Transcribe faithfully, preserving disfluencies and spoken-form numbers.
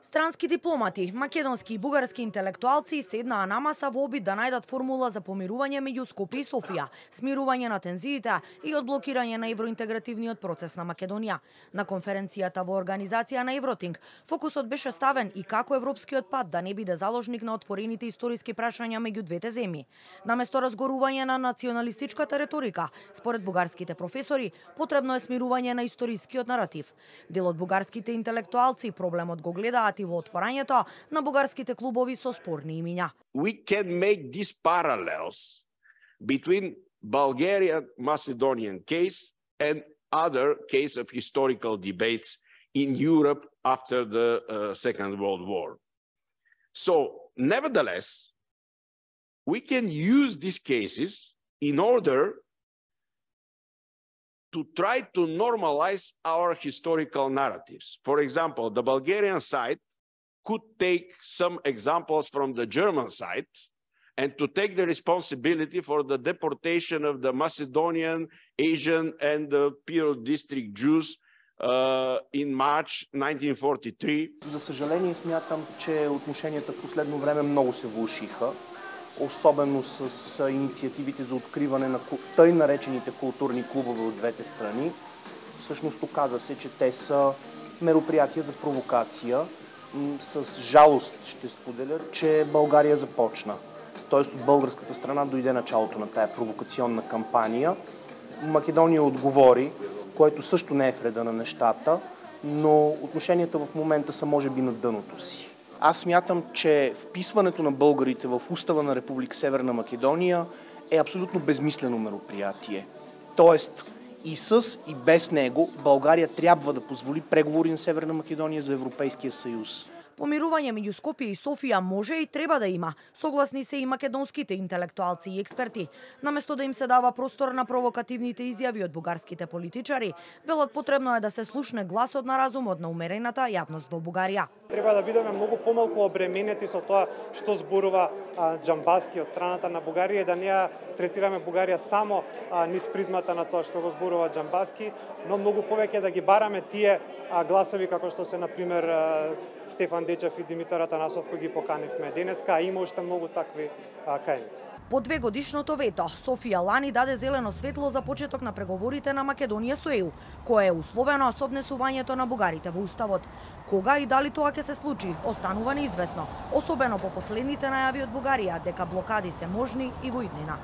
Странски дипломати, македонски и бугарски интелектуалци седнаа на маса во обид да најдат формула за помирување меѓу Скопје и Софија, смирување на тензиите и одблокирање на евроинтегративниот процес на Македонија. На конференцијата во организација на Евротинг, фокусот беше ставен и како европскиот пат да не биде заложник на отворените историски прашања меѓу двете земји. Наместо разгорување на националистичката реторика, според бугарските професори, потребно е смирување на историскиот наратив. Дел од бугарските интелектуалци проблемот го гледаат и во отворањето на бугарските клубови со спорни имиња. We can make these parallels between Bulgarian-Macedonian case and other case of historical debates in Europe after the uh, Second World War. So, nevertheless, we can use these cases in order to try to normalize our historical narratives. For example, the Bulgarian side could take some examples from the German side and to take the responsibility for the deportation of the Macedonian, Asian, and the Piro district Jews uh, in March nineteen forty-three. За съжаление, смятам, че отношенията в последно време много се влошиха, особено с инициативите за откриване на тъй наречените културни клубове от двете страни. Всъщност оказа се, че те са мероприятия за провокация. С жалост ще споделя, че България започна. Тоест от българската страна дойде началото на тая провокационна кампания. Македония отговори, което също не е в реда на нещата, но отношенията в момента са може би на дъното си. Аз смятам, че вписването на българите в устава на Република Северна Македония е абсолютно безмислено мероприятие. Тоест и с и без него България трябва да позволи преговори на Северна Македония за Европейския съюз. Помирување меѓу Скопје и Софија може и треба да има, согласни се и македонските интелектуалци и експерти. Наместо да им се дава простор на провокативните изјави од бугарските политичари, велат потребно е да се слушне гласот на разумот на умерената јавност во Бугарија. Треба да бидеме многу помалку обременети со тоа што зборува а, Џамбаски од страната на Бугарија, да не ја третираме Бугарија само а, низ призмата на тоа што го зборува Џамбаски, но многу повеќе да ги бараме тие а, гласови како што се на пример а, Стефан Дечев и Димитар Атанасов кои ги поканивме денеска, а има уште многу такви а, кај нив. По две годишното вето, Софија лани даде зелено светло за почеток на преговорите на Македонија со Е У, кое е условено со внесувањето на бугарите во уставот. Кога и дали тоа ќе се случи, останува неизвестно, особено по последните најави од Бугарија дека блокади се можни и во иднина.